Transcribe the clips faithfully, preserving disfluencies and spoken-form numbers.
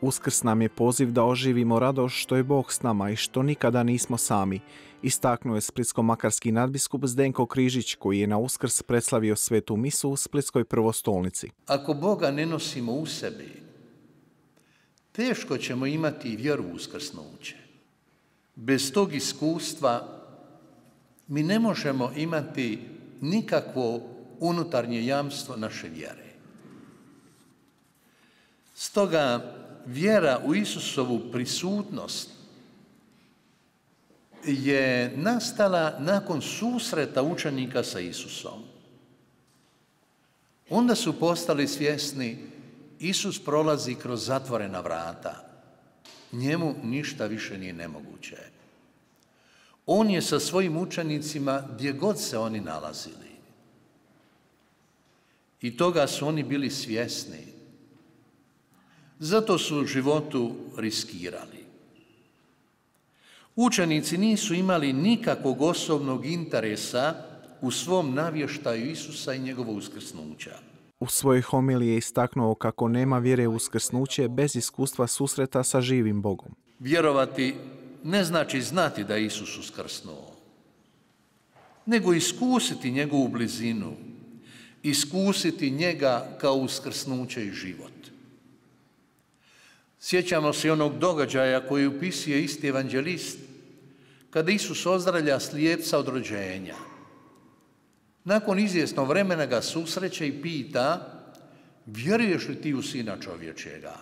Uskrs nam je poziv da oživimo radost što je Bog s nama i što nikada nismo sami, istaknuo je splitsko-makarski nadbiskup Zdenko Križić, koji je na Uskrs predslavio svetu misu u Splitskoj prvostolnici. Ako Boga ne nosimo u sebi, teško ćemo imati vjeru u uskrsnuće. Bez tog iskustva mi ne možemo imati nikakvo unutarnje jamstvo naše vjere. Stoga vjera u Isusovu prisutnost je nastala nakon susreta učenika sa Isusom. Onda su postali svjesni, Isus prolazi kroz zatvorena vrata. Njemu ništa više nije nemoguće. On je sa svojim učenicima gdje god se oni nalazili. I toga su oni bili svjesni. Zato su u životu riskirali. Učenici nisu imali nikakvog osobnog interesa u svom navještaju Isusa i njegovo uskrsnuća. U svojoj homiliji je istaknuo kako nema vjere u uskrsnuće bez iskustva susreta sa živim Bogom. Vjerovati ne znači znati da je Isus uskrsnuo, nego iskusiti njegovu blizinu, iskusiti njega kao uskrsnuće i život. Sjećamo se onog događaja koji upisuje isti evanđelist, kada Isus ozdravlja slijepca od rođenja. Nakon izvjesnog vremena ga susreće i pita, vjeruješ li ti u Sina čovječjega?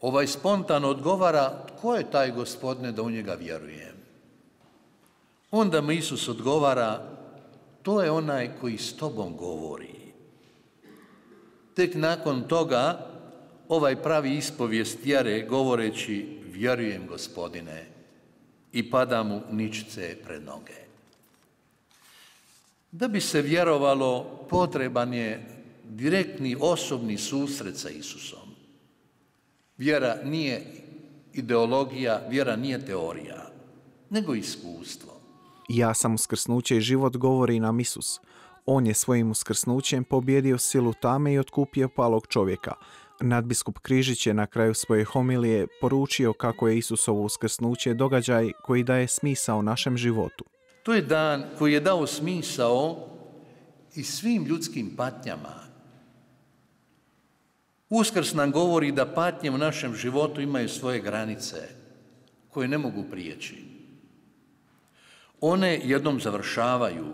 Ovaj spontano odgovara, tko je taj Gospodine da u njega vjerujem? Onda mu Isus odgovara, to je onaj koji s tobom govori. Tek nakon toga ovaj pravi ispovijest vjere govoreći, vjerujem Gospodine, i pada mu ničice pred noge. Da bi se vjerovalo, potreban je direktni osobni susret sa Isusom. Vjera nije ideologija, vjera nije teorija, nego iskustvo. Ja sam uskrsnuće i život, govori nam Isus. On je svojim uskrsnućem pobjedio silu tame i otkupio palog čovjeka. Nadbiskup Križić je na kraju svoje homilije poručio kako je Isusovo uskrsnuće događaj koji daje smisao našem životu. To je dan koji je dao smisao i svim ljudskim patnjama. Uskrs nam govori da patnje u našem životu imaju svoje granice koje ne mogu prijeći. One jednom završavaju.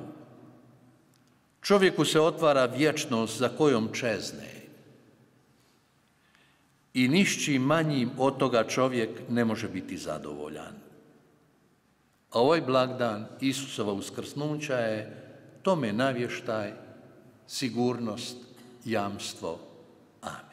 Čovjeku se otvara vječnost za kojom čezne. I nišćim manjim od toga čovjek ne može biti zadovoljan. A ovaj blagdan Isusova uskrsnuća je tome navještaj, sigurnost, jamstvo. Amen.